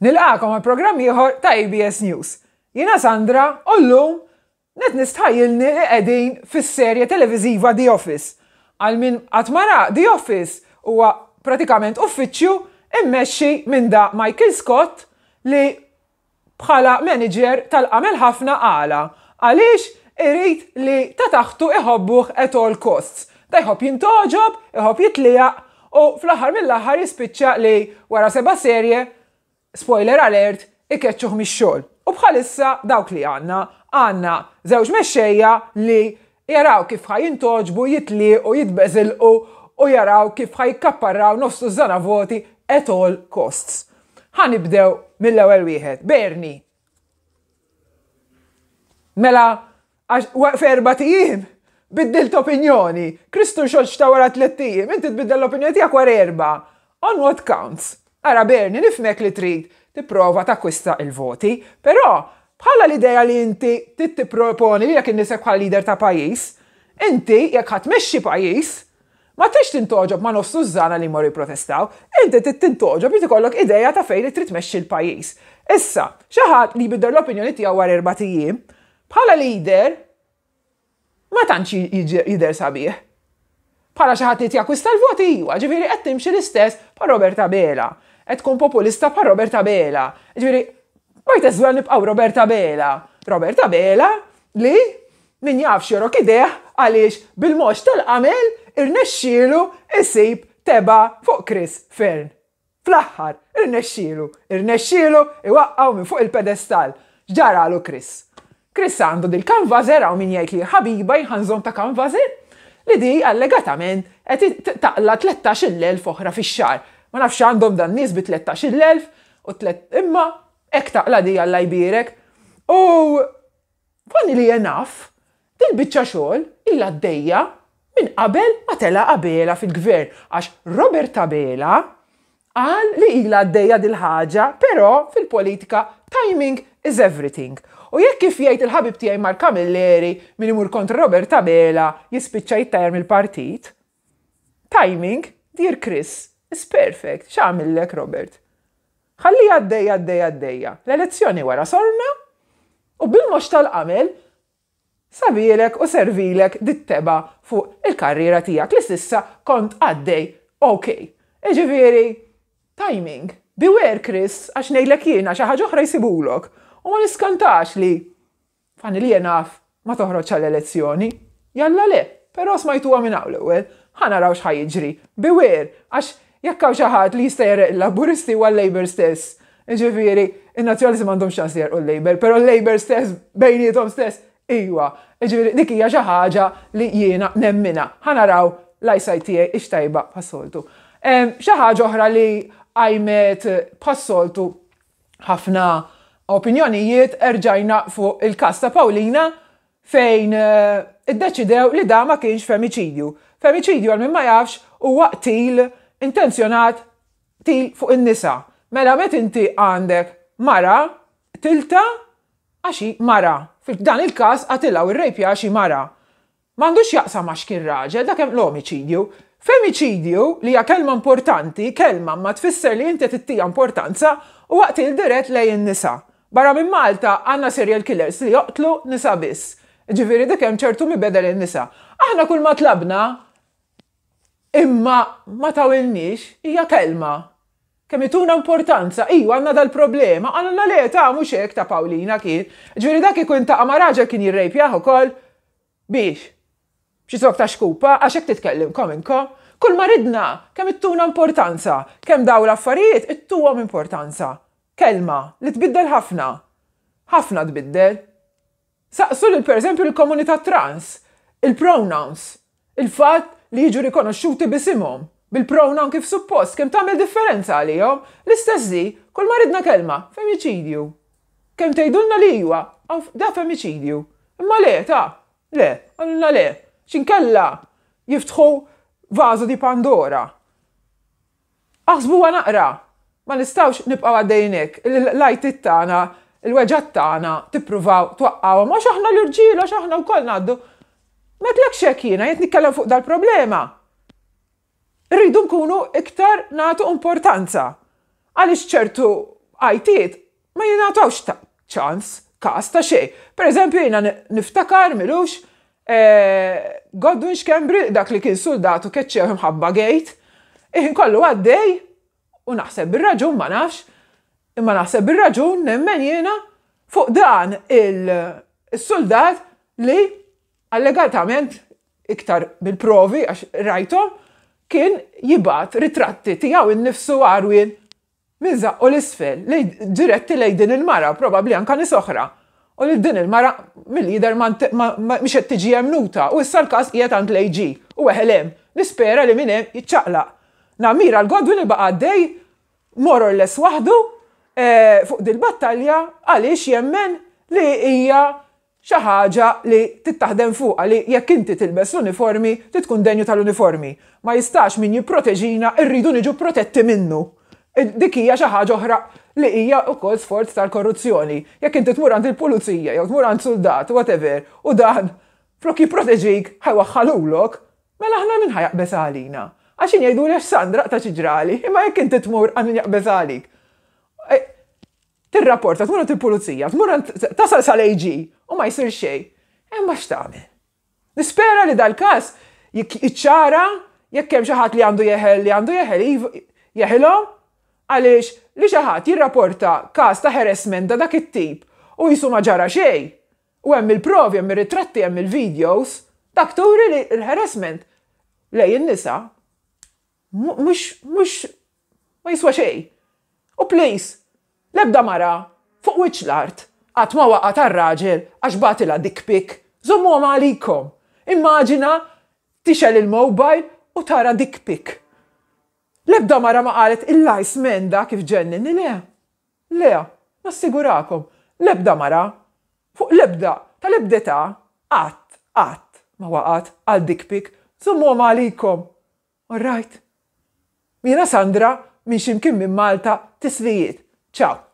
Nilqagħkom għal programm ieħor ta' ABS News. Jiena Sandra u llum qed nistħajjilni li qegħdin fis-serje televiżiva The Office. Għal min qatt ma ra The Office huwa pratikament uffiċċju immexxi minn da Michael Scott li bħala manager tal-qamel ħafna għala? Għaliex irid li ta' taħtu iħobbuh at all costs. Ta' jħobb jintgħoġob, iħobb jitliegħaq u fl-aħħar mill-aħħar jispiċċa li wara seba' serje, spoiler alert, ikeċċuh mix-xogħol. U bħalissa dawk li għandna, għandna żewġ mexxejja li jaraw kif ħa jintgħoġbu, jitliegħqu, jitbeżilqu u jaraw kif ħa jikkapparraw nofs tużżana voti at all costs. Ħa nibdew mill-ewwel wieħed, Bernie. Mela, għax f'erbat ijiem biddilt opinjoni. Kristu rxoxta wara tlett ijiem, inti tbiddel l-opinjoni tiegħek wara erbgħa. On what counts? Ara Bernie, nifhmek li trid tipprova takkwista l-voti, però bħala l-idea li inti trid tipproponi lilek innifsek bħala leader ta' pajjiż, inti jekk ħa tmexxi pajjiż, ma tridx tintgħoġob ma' nofs tużżana li jmorru jipprotestaw, inti trid tintgħoġob irid ikollok idea ta' fejn trid tmexxi l-pajjiż. Issa, xi ħadd li jbiddel l-opinjoni tiegħu wara erbat ijiem, bħala leader, ma tantx jidher sabiħ. Bħala xi ħadd li qed jakkwista l-voti iwa, ġifieri qed timxi l-istess bħal Robert Abela. Qed tkun populista bħal Robert Abela. Ġifieri might as well nibqgħu Robert Abela. Robert Abela li min jaf x'jorok idejh għaliex bil-mox tal-qamel irnexxielu jsib tebgħa fuq Chris Fearne. Fl-aħħar, irnexxielu, irnexxielu iwaqqgħu minn fuq il-pedestall. X'ġaralu Chris? Chris għandu dil-kanvażer, hawn min jgħid li ħabiba jien ħa nżomm ta' kanvażer, li di allegatament qed taqla' 13,000 oħra fix-xahar. Ma nafx x'għandhom dan nies bi 13,000 u tlet imma hekk taqla' di Alla jbierek. U Funny li enough, dil-biċċa xogħol ilha għaddejja minn qabel ma tela' Abela fil-Gvern għax Robert Abela qal li ilha għaddejja dil-ħaġa però fil-politika timing is everything. U jekk kif jgħid il-ħabib tiegħi Mark Camilleri min imur kontra Robert Abela jispiċċa jittajjar mill-partit, timing, dear Chris, is perfect. X'għamillek Robert? Ħalliha għaddejja għaddejja għaddejja. L-elezzjoni wara sorna u bil-mox tal-qamel sabielek u servilek dit-tebgħa fuq il-karriera tiegħek li s'issa kont għaddej ok. Jiġifieri, timing. Beware Chris, għax ngħidlek jiena xi ħaġa oħra jsibulok. U ma niskantax li Fanny li jien naf ma toħroġx għall-elezzjoni. Jalla le, però smajtuha minn hawn l-ewwel. Ħa naraw x'ħa jiġri. Beware, għax jekk hawn xi ħadd li jista' jegħreq il-Laburisti huwa l-Labour stess. Jiġifieri, in-Nazzjonalisti m'għandhomx ċans li jegħrqu l-Labour, però l-Labour stess bejniethom stess iwa. Jiġifieri dik hija xi ħaġa li jiena nemminha. Ħa naraw l-eyesight tiegħi hix tajba bħas-soltu. Xi ħaġa oħra li qajmet bħas-soltu ħafna opinjonijiet erġajna fuq il-każ ta' Paulina fejn eh, iddeċidew li da ma kienx femiċidju. Femiċidju għal min ma jafx huwa qtil intenzjonat qtil fuq in-nisa. Mela met inti għandek mara tilta għax hi mara. F'dan il-każ qatilha u rrejpja għax hi mara. M'għandux x'jaqsam għax kien raġel, dak hemm l-omiċidju. Femiċidju, li hija kelma importanti, kelma ma tfisser li inti qed ittiha importanza, huwa qtil dirett lejn in-nisa. Barra minn Malta għandna serial killers li joqtlu nisa biss. Jiġifieri dik hemm ċertu mibegħda lejn in-nisa. Aħna kull ma tlabna imma ma tawilniex hija kelma. Kemm ituna importanza, iva għandna dal-problema, qalulna le ta' mhux hekk ta' Paulina kien. Jiġifieri dak kieku intaqa' ma' raġel kien jirrejpjah ukoll. Biex? B'xi zokk ta' xkupa, għax hekk titkellimkom inkom. Kull ma ridna, kemm ittuna importanza, kemm dawn l-affarijiet ittuhom importanza. Kelma, li tbiddel ħafna. Ħafna tbiddel. Saqsu lil pereżempju lill-komunità trans, il-pronouns, il-fatt li jiġu rikonoxxuti b'isimhom, bil-pronoun kif suppost, kemm tagħmel differenza għalihom. L-istess di, kull ma ridna kelma, femiċidju. Kemm tgħidulna li iwa, da femiċidju. Imma le, ta, le, qalulna le. X'inkella jiftħu vażo di Pandora. Aħsbuha naqra! Ma nistgħux nibqgħu għaddejjin hekk, l-għajtiet tagħna, il-weġgħat tagħna tippruvaw twaqqgħuhom għax aħna l-irġiel, għax aħna wkoll ngħaddu. M'għedtlekx hekk jiena, jien qed nitkellem fuq dal-problema. Irridu nkunu iktar nagħtu importanza. Għaliex ċertu. għajtiet ma jingħatawx ta' ċans, każ ta' xejn. Per eżempju jiena niftakar milux Godwin Schembri dak li kien suldat u keċċew imħabba gate, iħin kollu għaddej u naħseb bir-raġun ma nafx, imma naħseb bir-raġun nemmen jiena fuq dan il-suldat li allegatament iktar bil-provi għax rajthom kien jibgħat ritratti tiegħu innifsu għarwien minn żaqqu 'l isfel, diretti lejn din il-mara, probabbli anke nies oħra. U lil din il-mara mill-jidher mhix qed tiġi emmnuta u issa l-każ qiegħed għand l-AG u weħel hemm. Nispera li minn hemm jiċċaqlaq. Nammira 'l Godwin li baqa' għaddej more or less waħdu fuq dil-battalja għaliex jemmen li hija xi ħaġa li trid taħdem fuqha li jekk inti tilbes l-uniformi trid tkun denju tal-uniformi. Ma jistax min jipproteġina rridu niġu protetti minnu. Dik hija xi ħaġa oħra li hija wkoll sforz tal-korruzzjoni. Jekk inti tmur għand il-pulizija jew tmur għand suldat whatever u dan flok jipproteġik ħa jwaħħalulok, mela aħna min ħa jaqbeż għalina? Għax jien jgħiduli għax Sandra aqta' xi ġrali, imma jekk inti tmur għand min jaqbeż għalik. Tirrapporta, tmur għand il-pulizija, tmur għand tasal sal-AG u ma jsir xejn. Imma x'tagħmel? Nispera li dal-każ jiċċara jekk hemm xi ħadd li għandu jeħel li għandu jeħel jeħilhom għaliex li xi ħadd jirrapporta każ ta' harassment ta' dak it-tip u qisu ma ġara xejn u hemm il-provi, hemm ir-ritratti, hemm il-videos, dak turi li l-harassment lejn in-nisa mhux mhux ma jiswa xejn. U please, l-ebda mara fuq wiċċ l-art qatt ma waqgħet għal raġel għax bagħtilha dick pic. Żommuhom għalikom. Immaġina tixgħel il-mobile u tara dick pic. L-ebda mara ma qalet il-iceman da kif ġenninni, le. Le, nassigurakom, l-ebda mara, fuq l-ebda, tal-ebda età, qatt, qatt ma waqgħet għal dick pic. Żommuhom għalikom. All right? Jiena Sandra minn xi mkien minn Malta, tislijiet. Ciao.